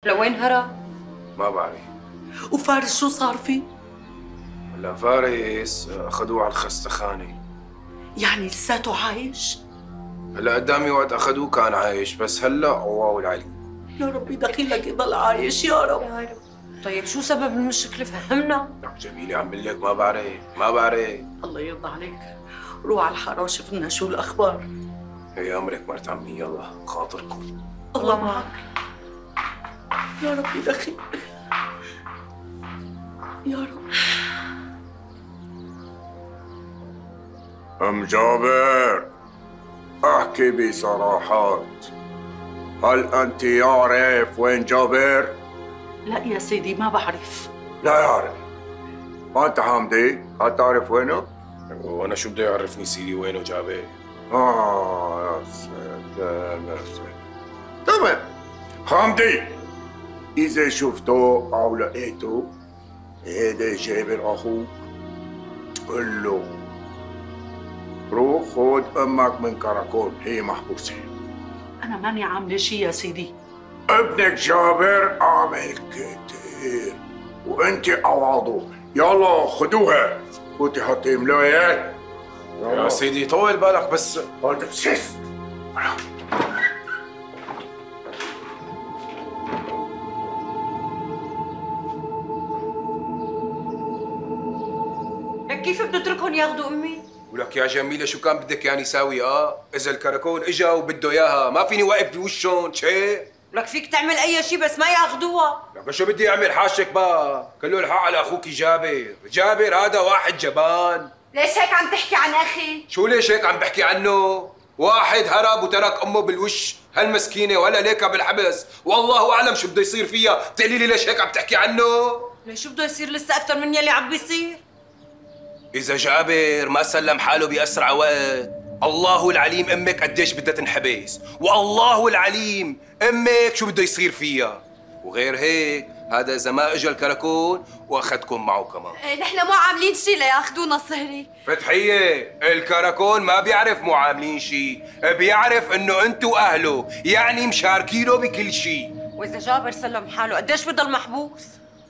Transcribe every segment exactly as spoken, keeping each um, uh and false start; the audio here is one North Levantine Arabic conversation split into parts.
لوين هرب؟ ما بعرف. وفارس شو صار فيه؟ هلا فارس اخذوه على الخستخانة. يعني لساته عايش؟ هلا قدامي وقت اخذوه كان عايش، بس هلا الله العليم. يا ربي دخيلك يضل عايش يا رب. يا رب. طيب شو سبب المشكلة؟ فهمنا. جميلة عم بقول لك ما بعرف، ما بعرف. الله يرضى عليك، روح على الحارة وشوف لنا شو الأخبار. هي أمرك مرت عمي، يلا خاطركم. الله معك. يا ربي دخيل. يا رب. أم جابر، احكي بصراحات، هل أنت يعرف وين جابر؟ لا يا سيدي ما بعرف. لا يعرف. وأنت حامدي، هل تعرف وينه؟ وانا شو بده يعرفني سيدي وينه جابر؟ آه يا سلام يا سلام. تمام حامدي، إذا شفته أو لقيته هيدا جابر أخوك، قل له روح خد أمك من كراكون، هي محبوسة. أنا ماني عاملة شي يا سيدي. ابنك جابر عامل كتير وانت عواضه، يلا خدوها فوتي حطي ملايات. يا سيدي طول بالك بس. هذا سيس. لك كيف بتتركهم ياخذوا امي؟ ولك يا جميلة شو كان بدك يعني ساوي؟ اه اذا الكراكون اجا وبده اياها ما فيني واقف بوشهم شي. لك فيك تعمل اي شيء بس ما ياخذوها. لك شو بدي اعمل حاشك بقى؟ كله الحق على اخوك جابر، جابر هذا واحد جبان. ليش هيك عم تحكي عن اخي؟ شو ليش هيك عم بحكي عنه؟ واحد هرب وترك امه بالوش هالمسكينة ولا ليكها بالحبس، والله اعلم شو بده يصير فيها، بتقولي لي ليش هيك عم تحكي عنه؟ ليش شو بده يصير لسه اكثر من يلي عم بيصير؟ إذا جابر ما سلم حاله بأسرع وقت، الله العليم أمك قديش بدها تنحبس، والله العليم أمك شو بده يصير فيها، وغير هيك هذا إذا ما إجا الكراكون وأخذكم معه كمان. ايه نحن مو عاملين شيء لياخذونا صهري. فتحية، الكراكون ما بيعرف مو عاملين شيء، بيعرف إنه أنتوا أهله، يعني مشاركينه بكل شيء. وإذا جابر سلم حاله قديش بضل محبوس؟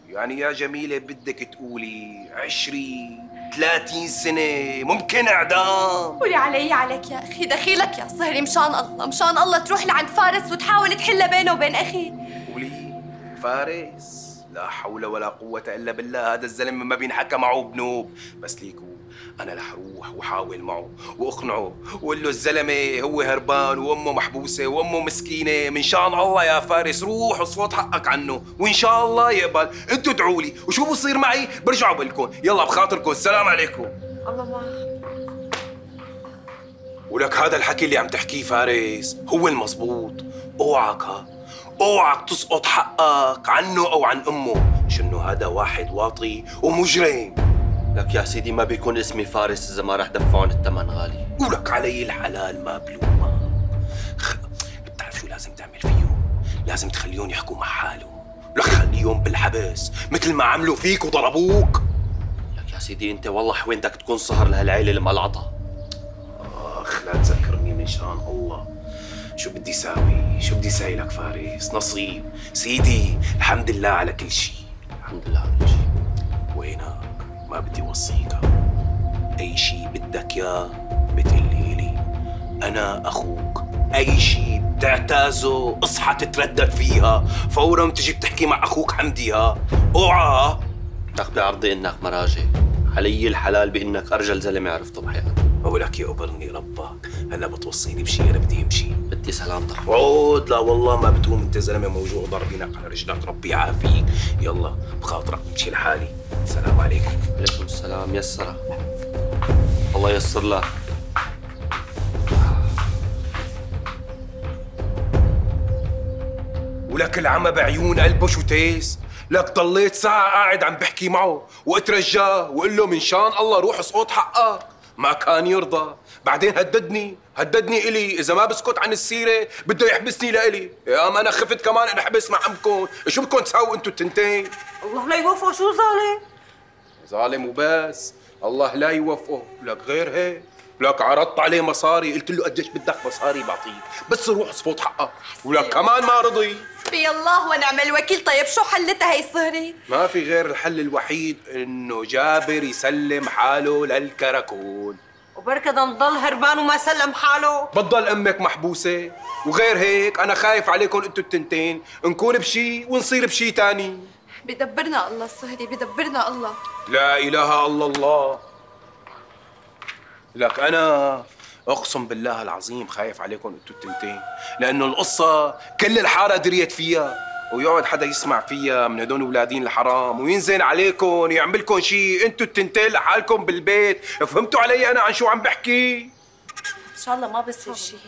يعني يا جميلة بدك تقولي عشرين ثلاثين سنة، ممكن إعدام. قولي علي عليك يا أخي، دخيلك يا صهري مشان الله، مشان الله تروح لعند فارس وتحاول تحل بينه وبين أخي. قولي فارس؟ لا حول ولا قوة إلا بالله، هذا الزلمة ما بينحكى معه بنوب، بس ليكو أنا رح أروح وحاول معه وأقنعه وقول له الزلمة هو هربان وأمه محبوسة وأمه مسكينة، من شان الله يا فارس روح وصوت حقك عنه وإن شاء الله يقبل، أنتوا ادعوا لي وشو بصير معي برجعوا بقلكم، يلا بخاطركم السلام عليكم. الله معك. ولك هذا الحكي اللي عم تحكيه فارس هو المضبوط، اوعك ها اوعك تسقط حقك عنه او عن امه، شنو هذا واحد واطي ومجرم. لك يا سيدي ما بيكون اسمي فارس اذا ما رح دفعون الثمن غالي. ولك علي الحلال ما بلومك. خ... بتعرف شو لازم تعمل فيهم؟ لازم تخليهم يحكوا مع حالهم، لك خليهم بالحبس مثل ما عملوا فيك وضربوك. لك يا سيدي انت والله حوينتك تكون صهر لهالعيله الملعطه. اخ لا تذكرني من شان الله. شو بدي ساوي؟ شو بدي ساوي لك فارس؟ نصيب سيدي، الحمد لله على كل شيء. الحمد لله على كل شيء. وينك؟ ما بدي وصيك، أي شيء بدك إياه بتقلي لي، أنا أخوك، أي شيء بتعتازه اصحى تتردد فيها، فورا بتجي بتحكي مع أخوك حمدي ها، اوعى. لك بعرضي إنك مراجع، علي الحلال بإنك أرجل زلمة عرفته بحياتي. ولك يقبرني ربك، هلا بتوصيني بشيء أنا بدي أمشي. بدي سلامتك. عود لا والله ما بتقوم، أنت زلمة موجوع ضاربينك على رجلك، ربي يعافيك، يلا بخاطرك بمشي لحالي، السلام عليكم. عليكم السلام، يسرها الله ييسر لك. ولك العمى بعيون قلبه شو تيس، لك ضليت ساعة قاعد عم بحكي معه واترجاه وقل له من شان الله روح اسقط حقك، ما كان يرضى، بعدين هددني هددني إلي إذا ما بسكت عن السيرة بده يحبسني لإلي، يا ما أنا خفت كمان انحبس مع عمكم، شو بدكم تساووا أنتوا التنتين؟ الله لا يوفقه، شو ظالم؟ ظالم وبس، الله لا يوفقه، لك غير هيك ولك عرضت عليه مصاري، قلت له قديش بدك مصاري بعطيك، بس روح اصفط حقك، ولك كمان ما رضي. حسبي الله ونعم الوكيل. طيب شو حلتها هي صهري؟ ما في غير الحل الوحيد انه جابر يسلم حاله للكراكون. وبركة ده نضل هربان وما سلم حاله. بتضل امك محبوسه، وغير هيك انا خايف عليكم انتوا التنتين، نكون بشي ونصير بشي تاني. بدبرنا الله صهري، بدبرنا الله. لا اله الا الله. لك انا اقسم بالله العظيم خايف عليكم انتوا التنتين، لانه القصه كل الحاره دريت فيها، ويقعد حدا يسمع فيها من هدول ولادين الحرام وينزل عليكم يعملكم شيء انتوا التنتين لحالكم بالبيت. فهمتوا علي انا عن شو عم بحكي؟ ان شاء الله ما بصير شيء.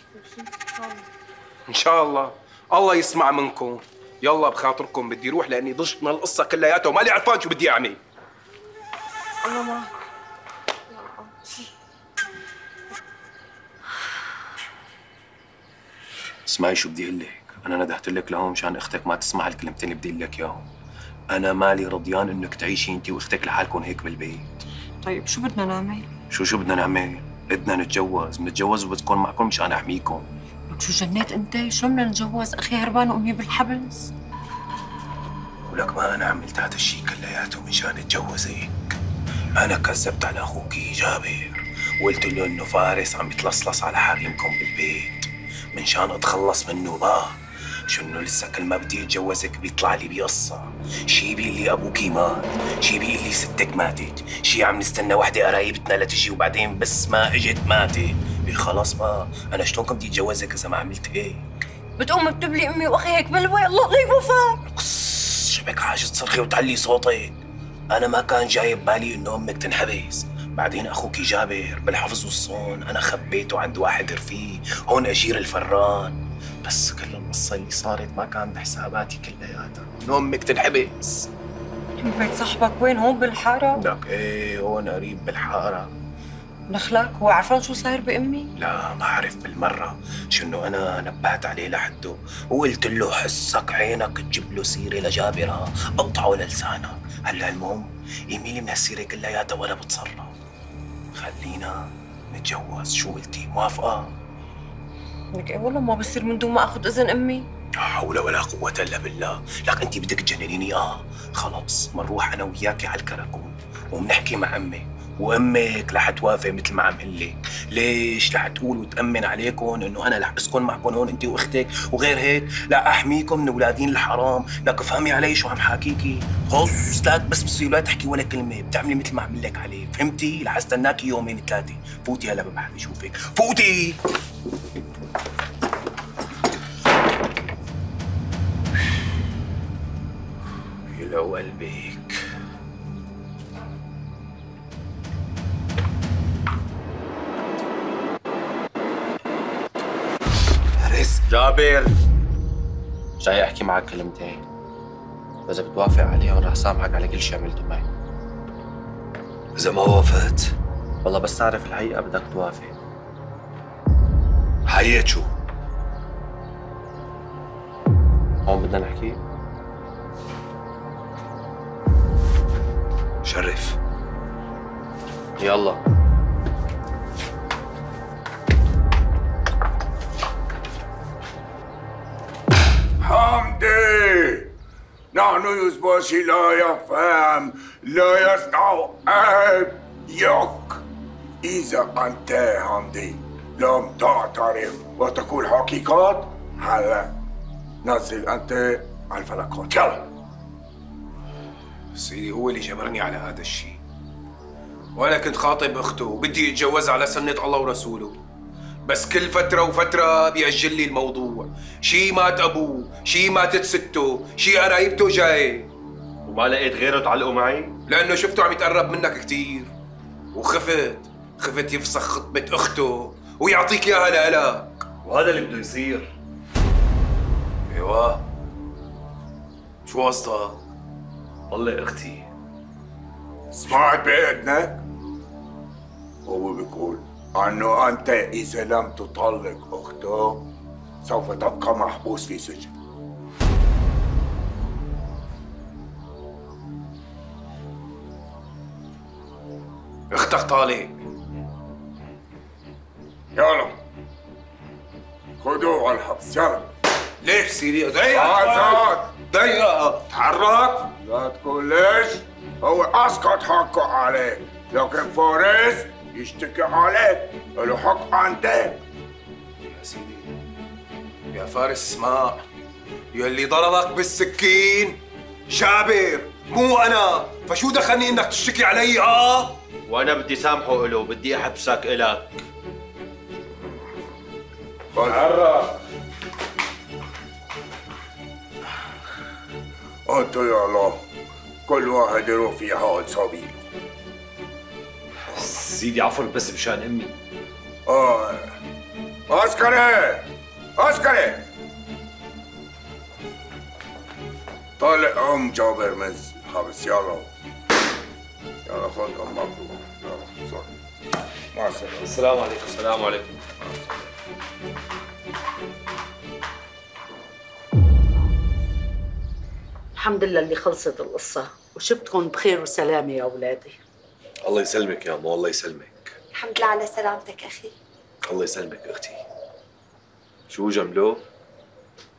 ان شاء الله الله يسمع منكم. يلا بخاطركم بدي روح لاني ضجت من القصه كلياتها ومالي عرفان شو بدي اعمل. الله ما اسمعي شو بدي اقول لك، انا ندهت لك لهون مشان اختك ما تسمع الكلمتين اللي بدي اقول لك اياهم. انا مالي رضيان انك تعيشي انت واختك لحالكم هيك بالبيت. طيب شو بدنا نعمل؟ شو شو بدنا نعمل؟ بدنا نتجوز، بنتجوز وبتكون معكم مشان احميكم. لك شو جنيت انت؟ شو بدنا نتجوز؟ اخي هربان وامي بالحبس. ولك ما انا عملت هذا الشيء كلياته مشان اتجوزك. انا كذبت على اخوكي جابر وقلت له انه فارس عم يتلصلص على حريمكم بالبيت منشان اتخلص منه. ما شو انه لسه كل ما بدي اتجوزك بيطلع لي بقصه، شي بيقول لي ابوكي مات، شي بيقول لي ستك ماتت، شي عم نستنى وحده قرايبتنا لتجي وبعدين بس ما اجت ماتت. خلاص ما انا شلون كنت اتجوزك اذا ما عملت هيك؟ بتقوم بتبلي امي واخي هيك بلوى. الله لا يوفقك. قص شبك حاجه تصرخي وتعلي صوتك. انا ما كان جاي ببالي انه امك تنحبس، بعدين اخوك جابر بالحفظ والصون انا خبيته عند واحد رفيق هون اجير الفران، بس كل القصه اللي صارت ما كان بحساباتي كلياتها انه امك تنحبس. بيت صاحبك وين؟ هون بالحاره؟ لك ايه هون قريب بالحاره. دخلك هو عرفان شو صاير بامي؟ لا ما عرف بالمره، شو انه انا نبهت عليه لحده وقلت له حسك عينك تجيب له سيره لجابرها اقطعه للسانك. هلا المهم يميلي من هالسيره كلياتها ولا بتصرف. خلينا نتجوز. شو قلتي؟ موافقه؟ لك ايه والله ما بصير من دون ما اخذ اذن امي. لا حول ولا قوة إلا بالله. لك أنت بدك تجننيني. آه خلاص بنروح أنا وياكي على الكراكون وبنحكي مع أمي، وأمك رح توافق مثل ما عم قل لك. ليش؟ رح تقول وتأمن عليكم إنه أنا رح أسكن معكم هون أنت وأختك، وغير هيك لا أحميكم من أولادين الحرام. لك افهمي علي شو عم حاكيكي. خلص لك بس بصير لا تحكي ولا كلمة، بتعملي مثل ما عم لك عليه. فهمتي؟ رح استناكي يومين ثلاثة. فوتي هلا ببحر شوفك. فوتي. لو قلبك فارس. جابر جاي احكي معك كلمتين، واذا بتوافق عليهم رح سامحك على كل شيء عملته معي. إذا ما وافقت والله بس تعرف الحقيقة بدك توافق. حقيقة شو؟ هون بدنا نحكي. شرف. يلا. حمدي، نحن يزباشي لا يفهم لا يستوعب يك. إذا أنت حمدي لم تعترف وتقول حقيقات، هلا نزل أنت على الفلكات. يلا. سيدي هو اللي جبرني على هذا الشيء، وانا كنت خاطب اخته وبدي اتجوزها على سنة الله ورسوله، بس كل فترة وفترة بيأجل لي الموضوع. شي مات ابوه، شي ماتت سته، شي قرايبته جاي. وما لقيت غيره تعلقوا معي؟ لانه شفته عم يتقرب منك كثير وخفت، خفت يفسخ خطبة اخته ويعطيك اياها لإلك. وهذا اللي بده يصير. ايوه شو قصدك؟ طلق اختي. سمعت بإذنك؟ هو بيقول أنه أنت إذا لم تطلق أخته سوف تبقى محبوس في سجن. اختك طالق. يلا خدوه على الحبس يلا. ليش سيدي؟ ضيق آزاد ضيق تحرك. لا تقول ليش، هو اسقط حقه عليك، لكن فارس يشتكي عليك، له حق عندك. يا سيدي يا فارس اسمع، يلي ضربك بالسكين جابر مو انا، فشو دخلني انك تشتكي علي؟ اه وانا بدي سامحه له، بدي احبسك الك. تحرك. انتو يا الله كل واحد يروح في حال سبيله. سيدي عفوا بس مشان امي. اه عسكري عسكري طالع ام جابر من الحبس يلا. يلا خد امك يلا صار. مع السلامة. السلام عليكم. السلام عليكم. الحمد لله اللي خلصت القصة وشفتكم بخير وسلامة يا أولادي. الله يسلمك يا مو، الله يسلمك. الحمد لله على سلامتك أخي. الله يسلمك اختي. شو جملو؟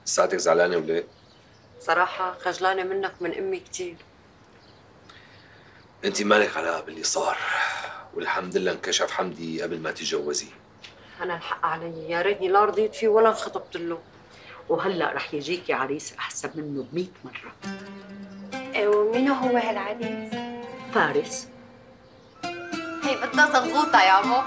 لساتك زعلانه وليه؟ صراحة خجلانة منك من أمي كتير. انت مالك علاقه باللي صار، والحمد لله انكشف حمدي قبل ما تتجوزي. أنا الحق علي، يا ريتني لا رضيت فيه ولا انخطبت له. وهلا رح يجيكي عريس أحسن منه بمئة مرة. إيه ومين هو هالعريس؟ فارس. هي بدها زغوطة يا مو.